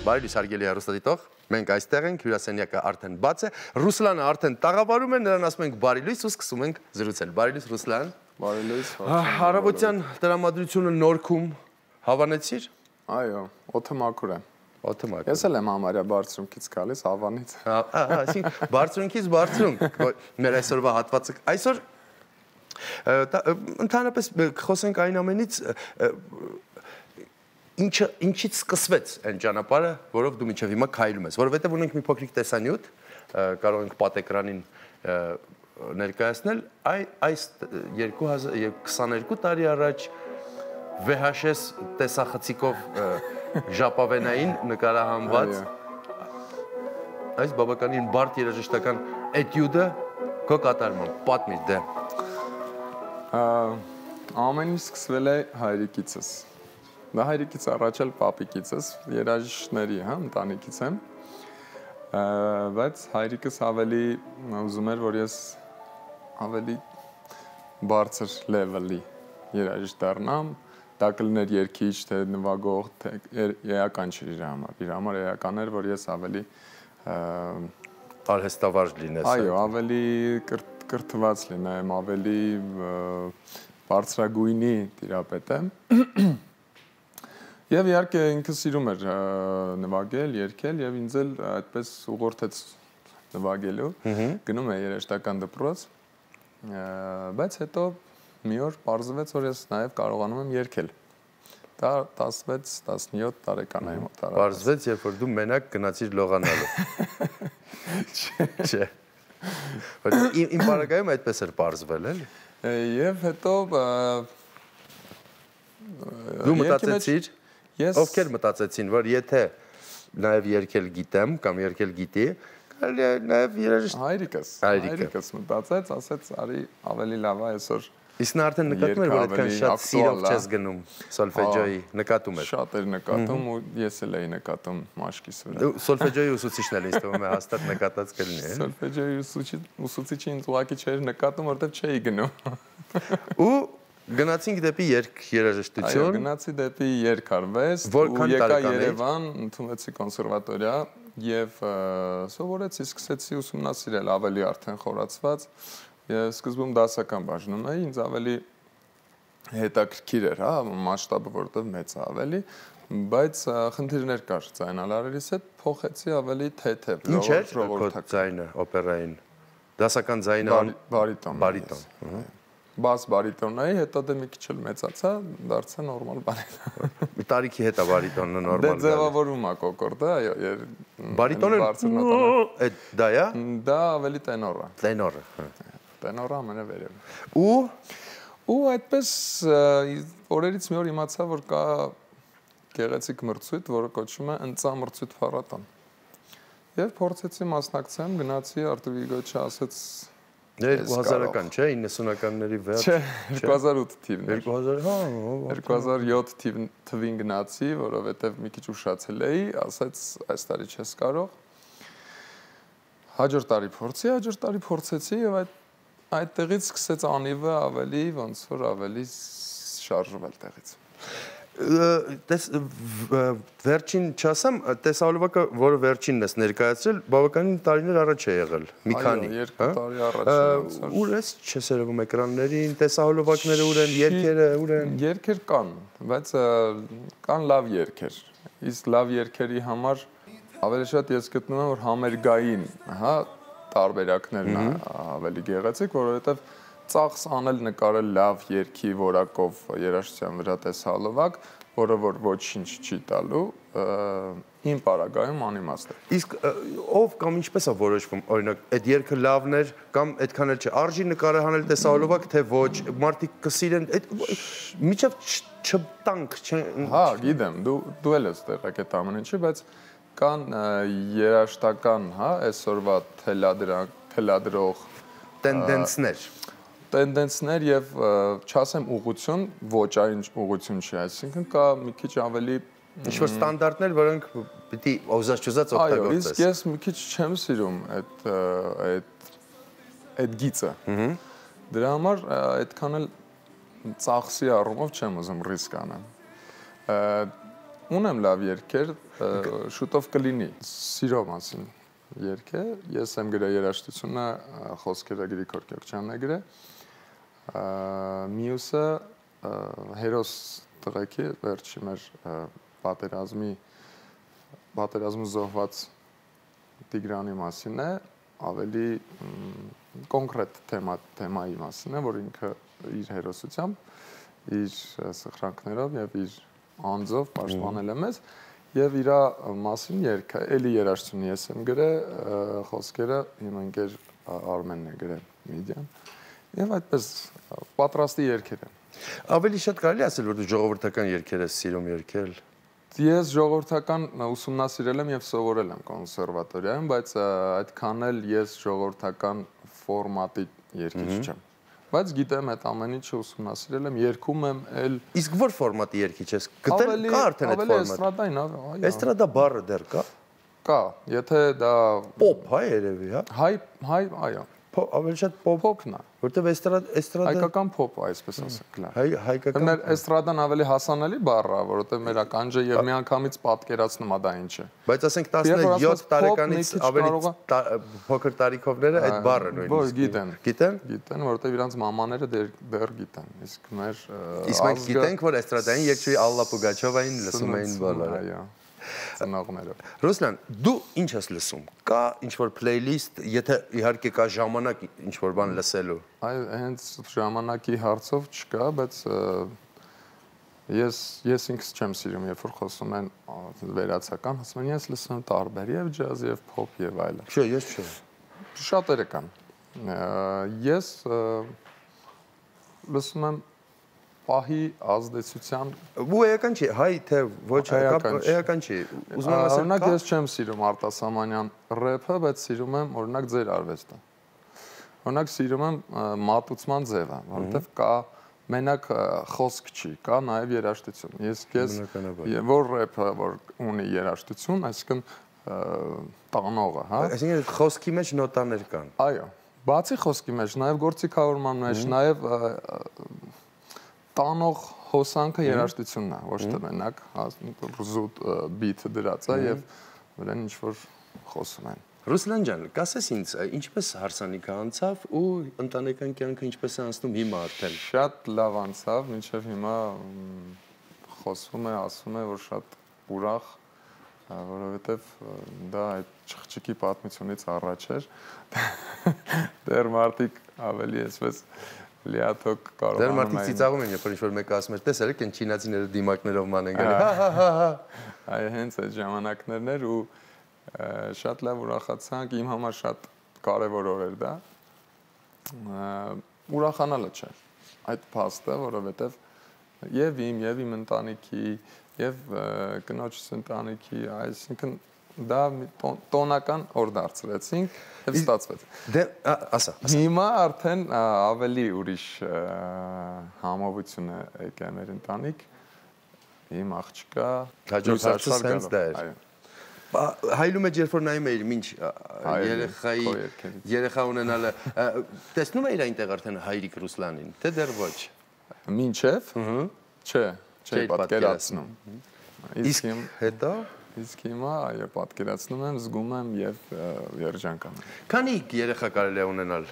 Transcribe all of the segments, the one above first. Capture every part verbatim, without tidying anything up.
Բարի լույս հարգելի հեռուստադիտող, մենք այստեղ ենք, հյուրասենյակը արդեն բաց է, Ռուսլանը արդեն տաղավարում է, նրան ասում ենք բարի լույս ու սկսում ենք զրուցել։ Բարի լույս Ռուսլան։ Բարի լույս։ Առավոտյան տրամադրությունը նորքում հավանեցիր։ Այո, օդը մաքուր է։ Օդը մաքուր։ Ես էլ եմ համարյա բարձրունքից գալիս, հավանից։ Այսինքն բարձրունքից բարձրունք, մեր այսօրվա հատվածը այսօր ընդհանրապես խոսենք այն ամենից Ինչը ինչից սկսվեց այն ճանապարհը, որով դու մինչև հիմա քայլում ես, որովհետև ունենք մի փոքրիկ տեսանյութ, կարող ենք պատեկրանին ներկայացնել, այս երկու հազար քսաներկու տարի առաջ V H S տեսախցիկով ժապավենային նկարահանված այս բավականին բարդ երաժշտական էտյուդը քո կատարմամբ, պատմիր դե։ Ամեն ինչ սկսվել է հայրիկիցս։ Դա հայրիկից առաջ էլ պապիկիցս, երաժիշտների, հա, ընտանիքից եմ, բայց հայրիկս ավելի ուզում էր, որ ես ավելի բարձր լևելի երաժիշտ դառնամ, դա կլիներ երգիչ, թե նվագող, թե էական չէր իր համար, իր համար էական էր, որ ես ավելի արհեստավարժ լինես։ Այո, ավելի կրթված լինեմ, ավելի բարձրագույնի տիրապետ եմ։ Եվ իհարկե ինքը սիրում էր նվագել, երգել եւ ինձ էլ այդպես ուղղորդեց նվագելու, գնում է երաժշտական դպրոց, բայց հետո մի օր պարզվեց, որ ես նաեւ կարողանում եմ երգել։ Դա տասնվեց տասնյոթ տարեկանայի մոտ արավ։ Պարզվեց, երբ որ դու մենակ գնացիր լողանալու։ Չէ։ Իմ բարակայում այդպես էր պարզվել, էլի։ Եվ հետո դու մտածեցիր Ովքեր մտածեցին, որ եթե նաև երգել գիտեմ կամ երգել գիտի, կարելի է նաև երաժիշտ հայրիկս, հայրիկս մտածեց, ասեց, արի ավելի լավ է այսօր։ Իսկ նա արդեն նկատում էր, որ այդքան շատ սիրով չես գնում սոլֆեջոյի, նկատում էր։ Շատ էր նկատում ու ես էլ էի նկատում մաշկիս վրա։ Դու սոլֆեջոյի ուսուցիչն էլ ինձ թվում է հաստատ նկատած կլինի, է։ Սոլֆեջոյի ուսուցիչը ինձ ուղղակի չէր նկատում, որտեղ չէի գնում։ Ու Գնացինք դեպի երգ երաժշտություն։ Այո, գնացի դեպի երգարվեստ ու եկա Երևան, ընդունվեցի կոնսերվատորիա եւ սովորեցի, սկսեցի ուսումնասիրել ավելի արդեն խորացված։ Ես սկզբում դասական բաժնում էի, ինձ ավելի հետաքրքիր էր, հա, մասշտաբը որտեղ մեծ է ավելի, բայց խնդիրներ կար ձայնալարերից հետ, փոխեցի ավելի թեթև, Ինչ էր քո ձայնը օպերային։ Դասական ձայնը բարիտոն։ Բարիտոն։ Բաս բարիտոնն էի, հետո դե մի քիչ էլ մեծացա, դարձա նորմալ բարիտոն։ Մի տարիքի հետ է բարիտոնը նորմալ։ Դե ձևավորում է կոկորդը, այո, բարիտոնը այդ դա է։ Դա ավելի տենոր է։ Տենորը։ Տենորը ամենավերևը։ Ու ու այդպես օրերից մի օր իմացա, որ կա գեղեցիկ մրցույթ, որը կոչվում է Ընծա մրցույթ փառատոն։ Եվ փորձեցի մասնակցեմ, գնացի Արտուղիգոչը ասեց երկու հազարական, չէ, իննսունականների վերջ։ Չէ, երկու հազար ութ թիվն էր։ երկու հազար, հա, երկու հազար յոթ թվին գնացի, որովհետև մի քիչ ուշացել էի, ասեց այս տարի չես կարող։ Հաջորդ տարի փորձի, հաջորդ տարի փորձեցի եւ այդ այդտեղից սկսեց անիվը ավելի ոնց որ ավելի շարժվել տեղից։ Տես վերջին չասեմ, տեսահոլովակը, որը վերջինն ես ներկայացրել, բավականին տարիներ առաջ է եղել, մի քանի։ Այո, երկու տարի առաջ։ Ուր ես չես երևում էկրաններին, տեսահոլովակները ուր են, երգերը ուր են։ Երգեր կան, բայց կան լավ երգեր։ Իսկ լավ երգերի համար ավելի շատ ես գտնում եմ, որ համերգային, հա, տարբերակներն ավելի գեղեցիկ, որովհետև ծախս անել նկարել լավ երգի որակով երաժշտության վրա տեսահոլովակ, որը որ ոչինչ չի տալու, իմ պարագայում անիմաստ է։ Իսկ ով կամ ինչպես է որոշվում, օրինակ, այդ երգը լավն էր կամ այդքան էլ չէ, արժի նկարահանել տեսահոլովակ, թե ոչ, մարդիկ կսիրեն, միջև չտանք, չեն։ Հա, գիտեմ, դու դու էլ ես տեղակ այդ ամեն ինչի, բայց կան երաժշտական, հա, այսօրվա թելադրող տենդենսներ տենդենսներ եւ չասեմ ուղղություն, ոճային ուղղություն չի, այսինքն կա մի քիչ ավելի ինչ-որ ստանդարտներ, որոնք պիտի օզաց-չոզաց օգտագործես։ Այո, իսկ ես մի քիչ չեմ սիրում այդ այդ այդ գիծը։ Դրա համար այդքան էլ ծախսի առումով չեմ ուզում ռիսկ անեմ։ Ունեմ լավ երգեր, շուտով կլինի։ Սիրո մասին երգ է, ես եմ գրել երաժշտությունը, խոսքերը Գրիգոր Գյոքչյանն է գրել։ Մյուսը հերոս տղեկի վերջի մեր պատերազմի պատերազմու զոհված Տիգրանի մասին է, ավելի կոնկրետ թեմա թեմայի մասին է, որ ինքը իր հերոսությամբ, իր սխրանքներով եւ իր անձով պաշտպանել է մեզ եւ իր մասին երգը, էլի երաժշտություն ես եմ գրել, խոսքերը իմ ընկեր Արմենն է գրել Միդիան եւ այդպես պատրաստի երգեր են։ Ավելի շատ կարելի ասել, որ դու ժողովրդական երգեր ես սիրում երգել։ Ես ժողովրդական ուսումնասիրել եմ եւ սովորել եմ կոնսերվատորիայում, բայց այդքան էլ ես ժողովրդական ֆորմատի երգիչ չեմ։ Բայց գիտեմ այդ ամեն ինչը ուսումնասիրել եմ, երգում եմ էլ։ Իսկ որ ֆորմատի երգիչ ես գտել կա արդեն այդ ֆորմատը։ Ավելի էստրադային, այո։ Էստրադա բառը դեռ կա։ Կա, եթե դա Պոպ հայ երևի, հա։ Հայ, հայ, այո։ Ավելի շատ պոպն է, որտեվ էստրադ էստրադա հայկական պոպ, այսպես ասենք, լավ։ Հայ հայկական։ Մեր էստրադան ավելի հասանելի բառ է, որովհետեւ մեր ականջը եւ միանգամից պատկերացնում է դա ինչ է։ Բայց ասենք տասնյոթ տարեկանից ավելի փոքր տարիքովները այդ բառը նույնիսկ գիտեն։ Գիտեն։ Գիտեն, որովհետեւ իրանց մամաները դեռ գիտեն։ Իսկ մեր Իսկ մենք գիտենք, որ էստրադային երգչուհի Ալլա Պուգաչովային լսում էին բոլորը։ Այո։ Ծնողները։ Ռուսլան, դու ինչ ես լսում։ Կա ինչ-որ playlist, եթե իհարկե կա ժամանակ ինչ-որ բան լսելու։ Այ հենց ժամանակի հարցով չկա, բայց ես ես ինքս չեմ սիրում, երբ որ խոսում են վերացական, ասում են ես լսում եմ տարբեր եւ ջազ եւ փոփ եւ այլն։ Չէ, ես չէ։ Շատերը կան։ Ես լսում եմ պահի ազդեցության ու էական չի, հայ թե ոչ էական չի։ Ուզում եմ ասել, օրինակ ես չեմ սիրում Արտասամանյան рэփը, բայց սիրում եմ օրինակ ձեր արվեստը։ Օրինակ սիրում եմ մատուցման ձևը, որովհետև կա մենակ խոսք չի, կա նաև երաժշտություն։ Ես ես որ рэփը որ ունի երաժշտություն, այսինքն տանողը, հա։ Այսինքն խոսքի մեջ նոտաներ կան։ Այո, բացի խոսքի մեջ, նաև գործիքավորման մեջ, նաև տանող հոսանքը երաժշտությունն է, ոչ թե մենակ զուտ բիթը դրած է եւ վրան ինչ որ խոսում են։ Ռուսլան ջան, կասես ինձ, ինչպես հարսանիքը անցավ ու ընտանեկան կյանքը ինչպես է անցնում հիմա արդեն։ Շատ լավ անցավ, մինչև հիմա խոսվում է, ասում է, որ շատ ուրախ, որովհետեւ դա այդ չխչիկի պատմությունից առաջ էր։ Դեռ մարդիկ ավելի այսպես լիաթոք կարող Դեռ մարդիկ ծիծաղում են, երբ որ ինչ-որ մեկը ասում է, տեսել եք այն չինացիները դիմակներով ման են գալի։ Հա հա հա։ Այ հենց այդ ժամանակներն էր ու շատ լավ ուրախացանք, իմ համար շատ կարևոր օր էր դա։ Ուրախանալը չէ։ Այդ փաստը, որովհետև եւ իմ, եւ իմ ընտանիքի, եւ կնոջս ընտանիքի, այսինքն դա տոնական օր դարձրեցինք եւ ստացվեց։ Դե ասա, ասա։ Հիմա արդեն ավելի ուրիշ համովություն է եկել մեր ընտանիք։ Իմ աղջկա հաջորդ հարցը հենց դա էր։ Հայլու մեջ երբ որ նայում էիր ինչ երեխայի երեխա ունենալը տեսնում էիր այնտեղ արդեն հայրիկ Ռուսլանին, թե դեռ ոչ։ Մինչև։ Չէ, չէ պատկերացնում։ Իսկ հետո Իսկ հիմա այո պատկերացնում եմ, զգում եմ եւ երջանք անում։ Քանի երեխա կարելի է ունենալ։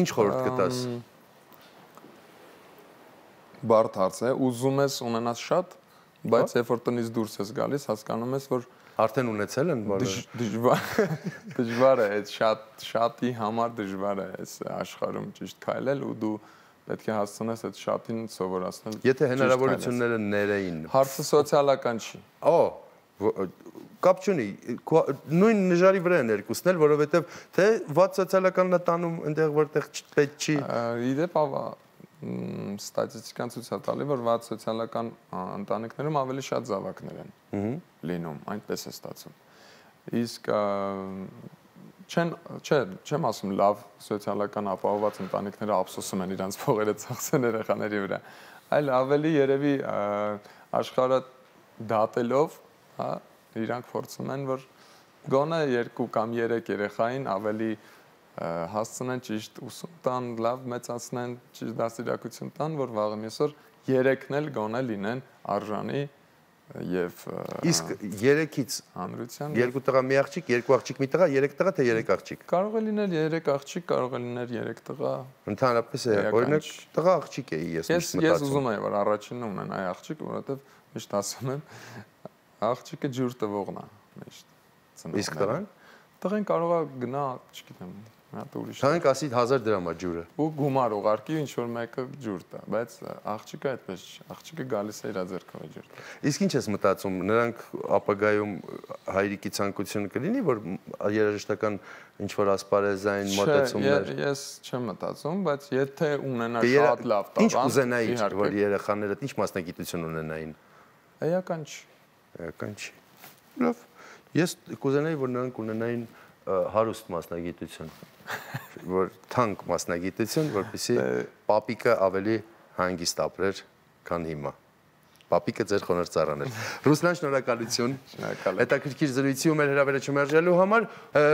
Ինչ խորհուրդ կտաս։ Բարդ հարց է, ուզում ես ունենալ շատ, բայց երբ որ տնից դուրս ես գալիս, հասկանում ես, որ արդեն ունեցել են բոլորը։ Դժվար դժվար է, այդ շատ շատի համար դժվար է այս աշխարհում ճիշտ քայլել ու դու պետք է հասցնես այդ շատին սովորացնել։ Եթե հնարավորությունները ներեին։ Հարցը սոցիալական չի։ Օ կապ չունի, նույն նժարի վրա են երկուսն էլ, որովհետև թե վատ սոցիալականն է տանում այնտեղ որտեղ պետք չի։ Իդեպ ստատիստիկան ցույց է տալի, որ վատ սոցիալական ընտանիքներում ավելի շատ զավակներ են լինում, այնպես է ստացվում։ Իսկ չեն, չէ, չեմ ասում լավ սոցիալական ապահովված ընտանիքները ափսոսում են իրենց փողերը ծախսեն երեխաների վրա, այլ ավելի երևի աշխարհը դատելով, հա, իրանք փորձում են, որ գոնե երկու կամ երեք երեխային ավելի հասցնեն ճիշտ ուսում տան, լավ մեծացնեն, ճիշտ դաստիարակություն տան, որ վաղը մյուսօր երեքն էլ գոնե լինեն արժանի եւ իսկ երեքից հանրության երկու տղա մի աղջիկ, երկու աղջիկ մի տղա, երեք տղա թե երեք աղջիկ։ Կարող է լինել երեք աղջիկ, կարող է լինել երեք տղա։ Ընդհանրապես է, օրինակ տղա աղջիկ էի ես միշտ մտածում։ Ես ուզում եմ որ առաջինը ունենայի աղջիկ, որովհետեւ միշտ ասում եմ աղջիկը ջուր տվողն է միշտ։ Իսկ տղան։ Տղեն կարող է գնա, չգիտեմ, հատ ուրիշ։ Թանկ ասի հազար դրամ է ջուրը։ Ու գումար ուղարկի ինչ որ մեկը ջուր տա, բայց աղջիկը այդպես չի։ Աղջիկը գալիս է իր ձեռքով ջուր տա։ Իսկ ինչ ես մտածում, նրանք ապագայում հայրիկի ցանկությունը կլինի, որ երաժշտական ինչ որ ասպարեզային մոտեցումներ։ Ես չեմ մտածում, բայց եթե ունենա շատ լավ տաղանդ, ինչ կուզենայի, որ երեխաները ինչ մասնագիտություն ունենային։ Էական չի։ Էական չի։ Լավ։ Ես կուզենայի, որ նրանք ունենային հարուստ մասնագիտություն, որ թանկ մասնագիտություն, որպեսզի պապիկը ավելի հանգիստ ապրեր, քան հիմա։ Պապիկը ձեր խոնարհ ծառան էր։ Ռուսլան, շնորհակալություն։ Հետաքրքիր զրույցի ու մեր հրավերը չմերժելու համար։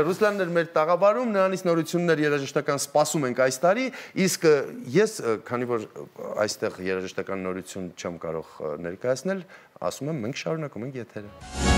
Ռուսլանն էր մեր տաղավարում, նրանից նորություններ երաժշտական սպասում ենք այս տարի, իսկ ես, քանի որ այստեղ երաժշտական նորություն չեմ կարող ներկայացնել, ասում եմ մենք շարունակում ենք եթերը։